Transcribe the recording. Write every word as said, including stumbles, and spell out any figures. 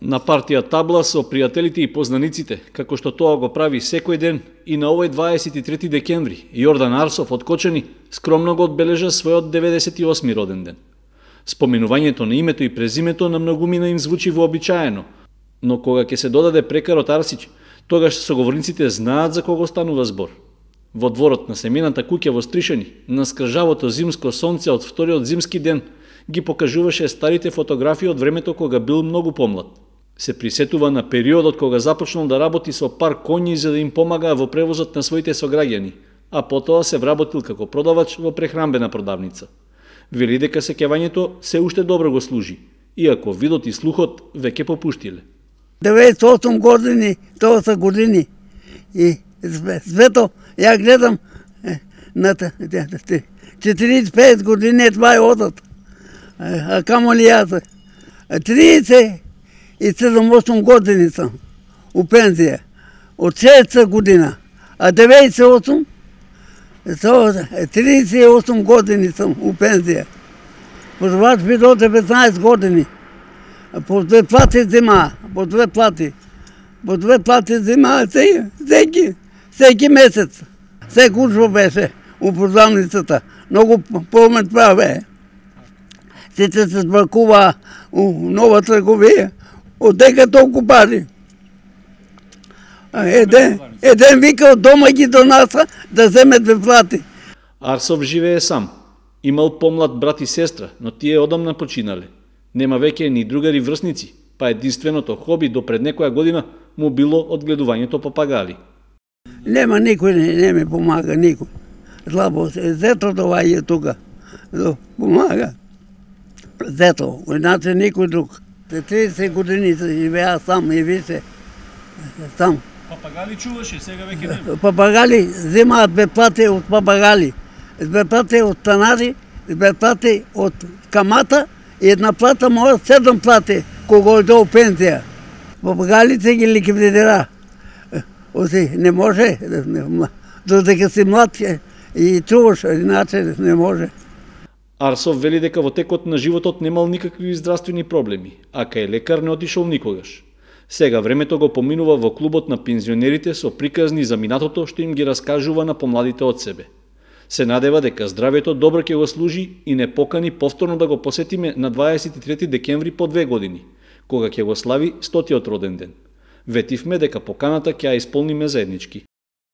На партија табла со пријателите и познаниците, како што тоа го прави секој ден, и на овој дваесет и трети декември, Јордан Арсов од Кочани скромно го одбележа својот деветдесет и осми роден ден. Споменувањето на името и презимето на многумина им звучи вообичаено, но кога ќе се додаде прекарот Арсич, тогаш соговорниците знаат за кого станува збор. Во дворот на семената куќа во Стришани, на скржавото зимско сонце од вториот зимски ден, ги покажуваше старите фотографии од времето кога бил многу помлад. Се присетува на периодот кога започнал да работи со пар коњи за да им помага во превозот на своите сограѓани, а потоа се вработил како продавач во прехранбена продавница. Вели дека сеќавањето се уште добро го служи, иако видот и слухот веќе попуштиле. деветдесет и осум години, тоа се години. И свето, ја гледам на четириесет и пет години, това е одат. А камо ли јас? тридесет и седум осум години сам у пензија. Од шеста година. А деветдесет и осум, тридесет и осум години сам у пензија. Позвач би до деветнаесет години. По две плати зима, по две плати. По две плати зима, секи, секи месец. Се кучво беше у продавницата. Многу помет праве. Сите се збракува у нова трговија. Од дека толку пари. Еден, еден вика од дома ги донаса да земе две плати. Арсов живее сам. Имал помлад брат и сестра, но тие одамна починале. Нема веќе ни другари врсници, па единственото хоби до пред некоја година му било одгледувањето папагали. Нема никој, не, не ми помага, никој. Слабо се, зето това е тука. Помага. Зето, иначе никој друг. тридесет години се живеа сам и више. Сам. Папагали чуваше, сега веќе нема. Папагали земаат бесплате од папагали. Бесплате од станари, бесплате од камата и една плата може седум плати кога оде у пензија. Папагалите ги ликвидира. Оси не може, додека си млад и чуваш, иначе не може. Арсов вели дека во текот на животот немал никакви здравствени проблеми, а кај лекар не отишол никогаш. Сега времето го поминува во клубот на пензионерите со приказни за минатото што им ги раскажува на помладите од себе. Се надева дека здравјето добро ќе го служи и не покани повторно да го посетиме на дваесет и трети декември по две години, кога ќе го слави стотиот роден ден. Ветивме дека поканата ќе ја исполниме заеднички.